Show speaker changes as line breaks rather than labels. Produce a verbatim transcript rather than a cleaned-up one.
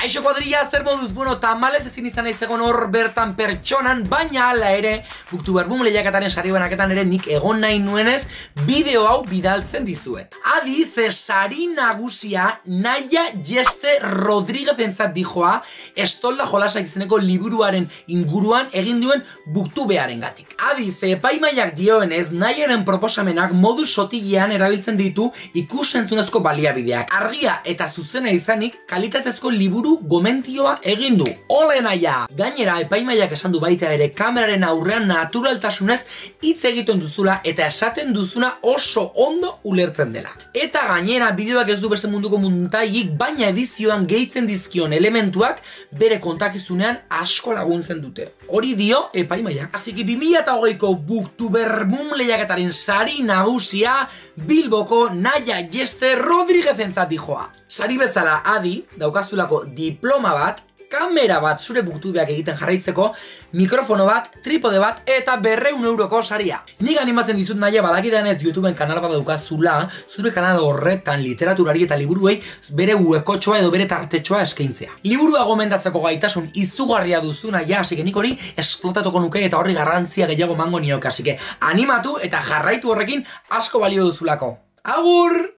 Kaixo kuadrilla, zer moduz? Bueno, tamalez ezin izan naiz egon hor bertan pertsonan, baina hala ere, Booktuber Boom lehiaketaren sari banaketan ere nik egon nahi nuenez, bideo hau bidaltzen dizuet. Adi, ze sari nagusia Naya Jeste Rodríguez entzat dijoa, Estolda jolasa izeneko liburuaren inguruan egin duen Booktubearen gatik. Adi, ze epaimaiak dioenez, Nayaren proposamenak modu sotilean erabiltzen ditu ikusentzunezko baliabideak. Argia eta zuzena izanik, kalitatezko liburu gomentioa egin du. Ole Naya! Gainera, epaimaiak esan du baita ere kameraren aurrean naturaltasunez hitz egiten duzula eta esaten duzuna oso ondo ulertzen dela. Eta gainera, bideoak ez du beste munduko muntailik, baina edizioan gehitzen dizkion elementuak bere kontakizunean asko laguntzen dute. Hori dio epaimaiak. Asiki bi mila hogeiko Booktuber Boom lehiaketaren sari nagusia Bilboko Naya Jeste Rodríguez entzat dijoa. Sari bezala, adi, daukazulako diploma bat, kamera bat zure booktubeak egiten jarraitzeko, mikrofono bat, tripode bat eta berreun euroko saria. Nik animatzen dizut Naya badakidanez YouTubeen kanal bat daukazula, zure kanal horretan literaturari eta liburuei bere huekotxoa edo bere tartetxoa eskaintzea. Liburua gomendatzeko gaitasun izugarria duzu Naya, asike nik hori esplotatuko nuke eta horri garrantzia gehiago mango nioke, asike animatu eta jarraitu horrekin asko balio duzulako. Agur!